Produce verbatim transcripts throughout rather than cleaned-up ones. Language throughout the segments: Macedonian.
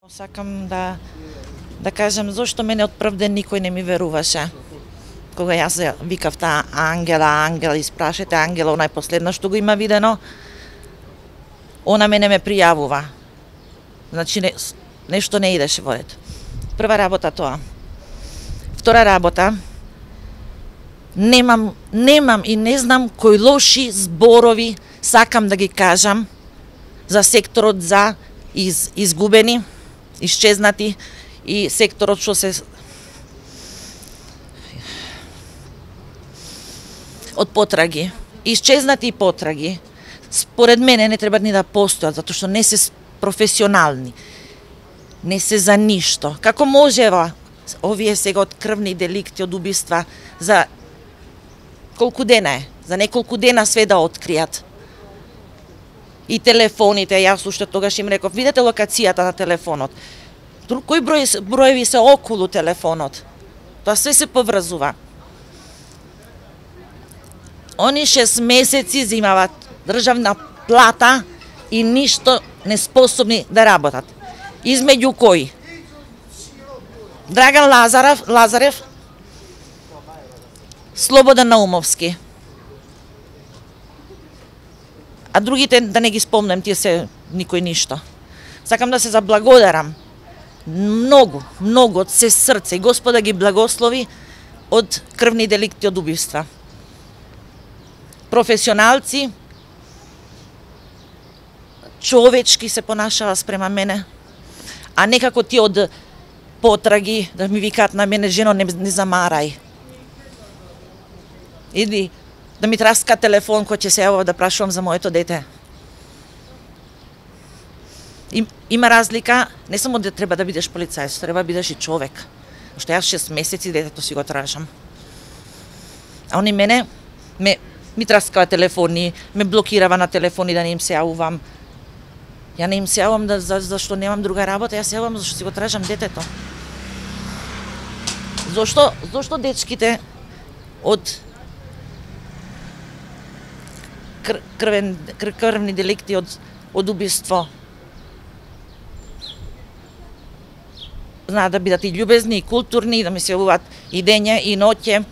Сакам да да кажам зошто мене од прв ден никој не ми веруваше. Кога јас викав таа Ангела, Ангела, испрашете Ангела, онај последно што го има видено, она мене ме пријавува. Значи не, нешто не идеше во ред. Прва работа тоа. Втора работа, немам, немам и не знам кои лоши зборови сакам да ги кажам за секторот за из, изгубени, исчезнати и секторот што се од потраги. Исчезнати и потраги, според мене не треба ни да постојат, затоа што не се професионални. Не се за ништо. Како можева овие сега од крвни деликти, од убиства, за колку дена е? За неколку дена све да откријат. И телефоните, јас уште тогаш им реков, видете локацијата на телефонот. Кој број, броеви се околу телефонот. Тоа све се поврзува. Они шест месеци земават државна плата и ништо не способни да работат. Измеѓу кои? Драган Лазарев, Лазарев, Слободан Наумовски. А другите да не ги спомнем, тие се никој ништо. Сакам да се заблагодарам многу, многу од се срце и Господа ги благослови од крвни деликти, од убиства. Професионалци, човечки се понашава спрема мене, а некако ти од потраги да ми викаат на мене, жено, не, не замарај. Иди да ми траска телефон кој ќе се јавува да прашувам за моето дете. Им, има разлика, не само да треба да бидеш полицајец, треба да бидеш и човек. Што јас шест месеци детето си го тражам. А они мене ме ми траскава телефони, ме блокирава на телефони да не им се јавувам. Ја не им се јавувам да, за, зашто немам друга работа, јас се јавувам зашто си го тражам детето. Зошто, зошто дечките од кр, крвен, кр, крвни деликти, од, од убиство знаат да бидат и љубезни, и културни, да ми се јавуваат и дење, и ноќе.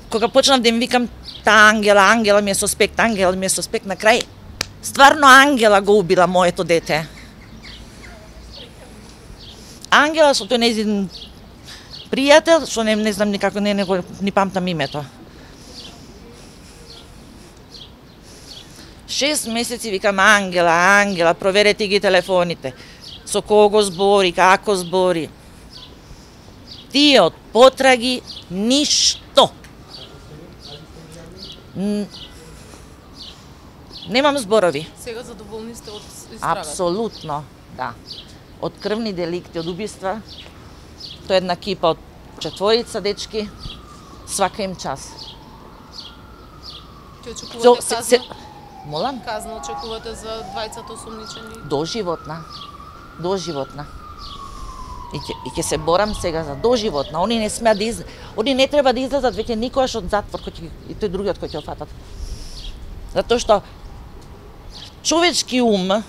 Кога почнав да им викам таа Ангела, Ангела ми е суспект, Ангела ми е суспект, на крај стварно Ангела го убила моето дете. Ангела со тој нејзин пријател, што не, не знам никако, не, не, ни памтам името. Шест месеци викам Ангела, Ангела, проверете ги телефоните. Со кого збори, како збори. Тие од потраги ништо. Немам зборови. Сега задоволни сте од истрагата? Апсолутно, да. Од крвни деликти, од убиства, тоа е една кипа од четворица дечки, свака им час. Ќе очекувате казна? Се... Молам? Казна очекувате за двајцата осумничени? Доживотна. Доживотна. И ќе, и ќе се борам сега за доживотна. Они не смеат да из... Они не треба да излезат веќе никогаш од затвор, кој ќе... и тој другиот кој ќе офатат. Затоа што човечки ум,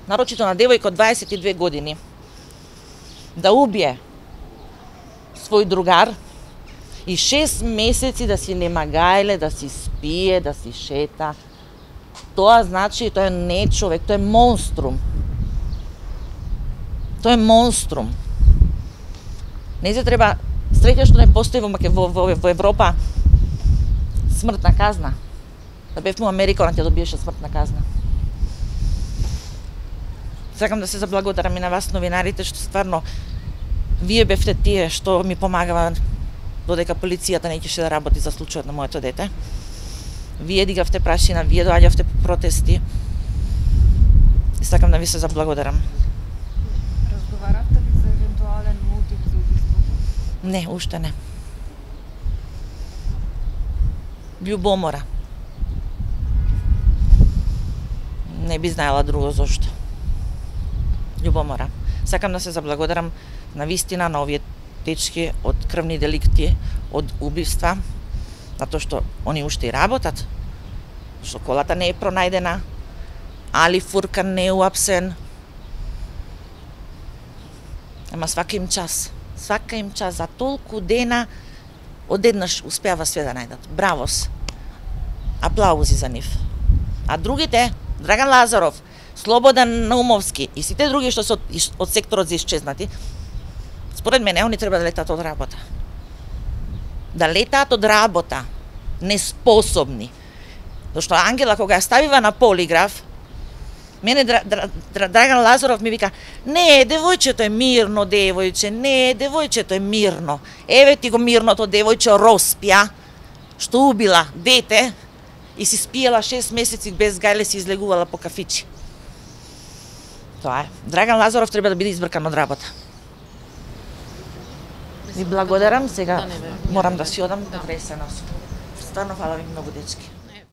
нарочито на девојка од дваесет и две години, да убие свој другар и шест месеци да си немагајле, да си спие, да си шета, тоа значи, тоа не е човек, тоа е монструм. Тоа е монструм. Не се треба, среќа што не постои во, во, во, во Европа смртна казна. Да бевме во Америка, она ќе добиеше смртна казна. Сакам да се заблагодарам и на вас, новинарите, што стварно вие бевте тие што ми помагава додека полицијата не ќеше да работи за случајот на моето дете. Вие дигавте прашина, вие доаѓавте по протести. И сакам да ви се заблагодарам. Разговаравте ли за евентуален мотив за убиството? Не, уште не. Љубомора. Не би знаела друго зошто. Љубомора. Сакам да се заблагодарам на вистина на овие дечки од крвни деликти, од убиства, затоа што они уште и работат, што колата не е пронајдена, Али Фуркан не е уапсен, Ама свака им час. Свака им час за толку дена одеднаш успеава све да најдат. Бравос. Аплаузи за нив. А другите, Драган Лазаров, Слободан Наумовски и сите други што се од, од секторот за исчезнати, според мене, они треба да летаат од работа. Да летаат од работа. Неспособни. Зашто Ангела, кога ја ставива на полиграф, мене Дра, Дра, Дра, Драган Лазаров ми вика: не, девојчето е мирно, девојче, не, девојчето е мирно. Еве ти го мирното девојче Роспија, што убила дете и си спиела шест месеци без гајле, си излегувала по кафичи. Тоа е. Драган Лазаров треба да биде избркан од работа. Ви благодарам, сега морам да си одам, да се носам. Стварно фала ви многу, дечки.